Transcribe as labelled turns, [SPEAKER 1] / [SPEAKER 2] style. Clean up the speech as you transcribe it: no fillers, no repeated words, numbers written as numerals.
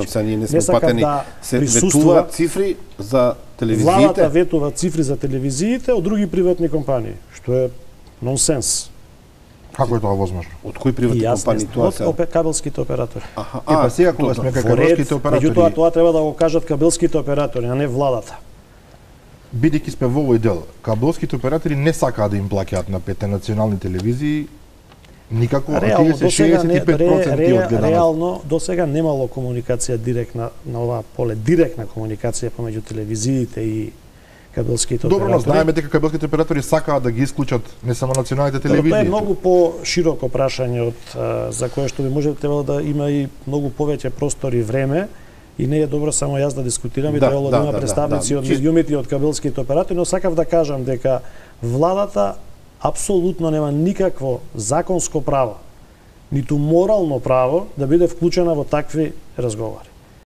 [SPEAKER 1] Значи, ние не сме упатени, се ветуваат цифри за телевизиите.
[SPEAKER 2] Владата ветува цифри за телевизиите од други приватни компании, што е нонсенс.
[SPEAKER 3] Како е тоа возможно?
[SPEAKER 1] Од кои приватни компании тоа се?
[SPEAKER 2] Од кабелските оператори.
[SPEAKER 3] Па сега кога сме кај кабелските оператори.
[SPEAKER 2] Меѓутоа тоа треба да го кажат кабелските оператори, а не владата.
[SPEAKER 3] Бидејќи сме во овој дел, кабелските оператори не сакаат да им плаќаат на 5 национални телевизии никако, а тие се 65% од гледаноста.
[SPEAKER 2] Реално досега немало комуникација директна на оваа поле, директна комуникација помеѓу телевизиите и кабелските оператори.
[SPEAKER 3] Добро, но знаеме дека кабелските оператори сакаат да ги исклучат не само националните телевизии.
[SPEAKER 2] Тоа е многу по-широко прашање од за кое што би може требало да има и многу повеќе простор и време. И не е добро само јас да дискутирам, и требало да има представници од медиумите и од кабелските оператори, но сакав да кажам дека владата апсолутно нема никакво законско право, ниту морално право да биде вклучена во такви разговори.